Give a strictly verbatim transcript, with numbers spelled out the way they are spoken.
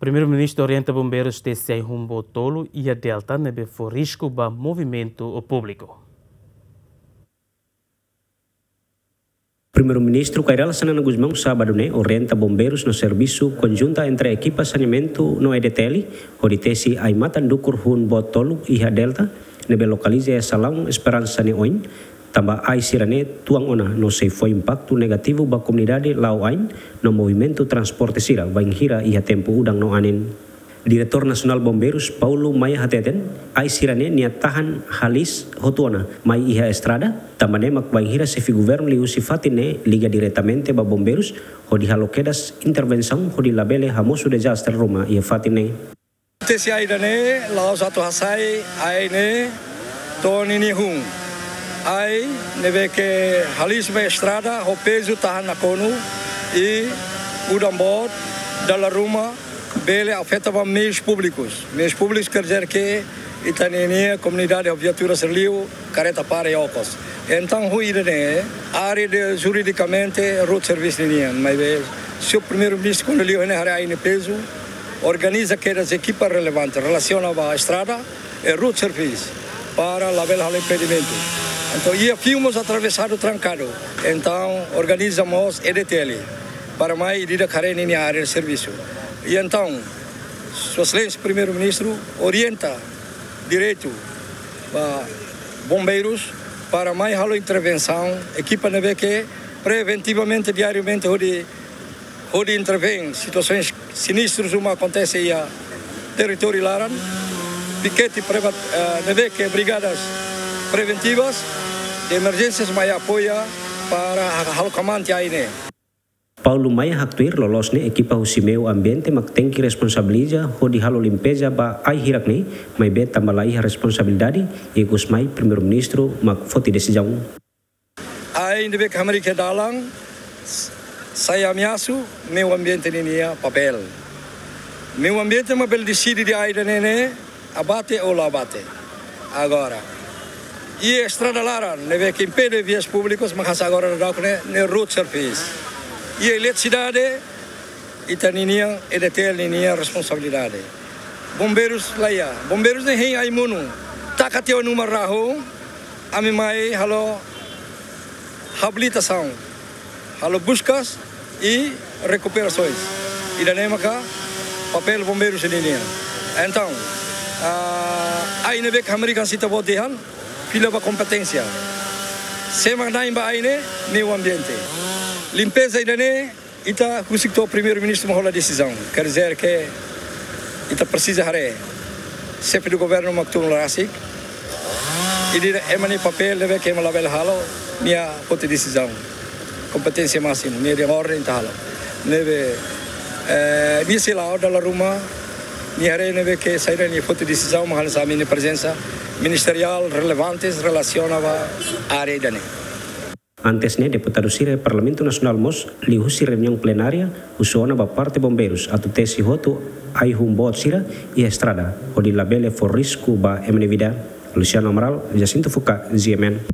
Primeiru-Ministru orienta bombeirus tesi ai-hun boot tolu iha Delta ne'ebé fó risku ba movimentu públiku. Primeiru-Ministru Kay Rala Xanana Gusmão sábadu ne'e orienta bombeirus no servisu konjunta entre ekipa saneamentu no E D T L, hodi tesi ai-matan dukur hun boot tolu iha Delta, ne'ebé lokaliza iha salaun Esperansa nia oin, tanba ai sira-ne'e tuan ona no sei fó impaktu negativu ba komunidade la'o ain no movimentu transporte sira bainhira iha tempu udan no anin. Diretór Nasionál Bombeirus Paulo Maia hateten, ai sira-ne'e nia tahan halis hotu ona mai iha estrada, tanba ne'e mak bainhira xefe governu liuhusi fatin ne'e liga diretamente ba bombeirus, hodi halo kedas intervensaun hodi labele hamosu dezastre ruma iha fatin ne'e. Tesi ai ida-ne'e, la'ós atu hasai ai ne'e to'o ninia hun. Ai ne'ebé ke halis ba estrada, ho pezu tahan nakonu, i udan boot, dala ruma, bele afeta ba meius públikus. Meius públikus quer dizer ke ita-ninia komunidade ho viatura sira liu, kareta para iha okos. Entaun, ho ida-ne'e, área de juridikamente road service ninian, maibé señór Primeiru-Ministru kuandu liu ne'e haree ai ne'e pezu, organiza kedas ekipa relevante relasiona ba estrada, e road service para labele halo impedimentu. Entaun, iha fiu mós atravesadu trankadu. Entaun, organiza mós E D T L para mai ida-idak haree ninia área de servisu. I entaun, Sua Exelénsia Primeiru-Ministru orienta diretu ba bombeirus para mai halo intervensaun, ekipa ne'ebé ke preventivamente, diariamente, hodi, hodi intervém situasoens sinistrus ruma akontese iha territóriu laran, pikete preva-, eh, ne'ebé ke brigadas preventivas de emerjénsias mai apoia para ha-, halo kamante ai ne'e. Paulo Maia haktuir loloos ne'e ekipa husi meiu ambiente mak tenke responsabiliza hodi halo limpeza ba ai hirak ne'e, maibé tanba la iha responsabilidade, ikus mai Primeiru-Ministru mak foti desizaun. Ai ne'ebé ke hamriik iha dalan, s-, sai ameasu meiu ambiente ninia papél. Meiu ambiente mak bele deside dehan ai ida-ne'e ne'e abate ou la abate. Agora, iha estrada laran ne'ebé ke impede vias públikas, mak hasai agora daudauk ne'e, ne'e road service. Iha eletrisidade, ita-ninia, E D T L ninia responsabilidade. Bombeirus la iha. Bombeirus ne'e hein ai monu. Taka tiha ó-nia uma rahun, ami mai halo habilitasaun, halo buskas i rekuperasoens. Ida-ne'e maka papél bombeirus ninian. Entaun, ah, ai ne'ebé ke hamriik hanesan ita-boot dehan, fila ba kompeténsia. Sé mak na'in ba ai ne'e, meiu ambiente. Limpeza ida-ne'e, ita husik to'o Primeiru-Ministru mak hola desizaun. Quer dizer ke ita presiza haree xefe do governu mak tun rasik. I ida-ne'e ema nia papél ne'ebé ke ema labele halo, nia foti desizaun. Kompeténsia másimu, nia dehan orden ita halo. Ne'ebé, eh, nia sei la'o dala ruma, nia haree ne'ebé ke saida nia foti desizaun, mak hanesan ami-nia prezensa ministeriál relevantes relasiona ba área ida-ne'e. Antes ne'e, deputadu sira iha Parlamentu Nasionál mós liuhusi reuniaun plenária husu ona ba parte bombeirus atu tesi hotu ai-hun boot sira iha estrada, hodi labele fó risku ba ema nia vida. Luciano Amaral, Jacinto Fuka, G M N.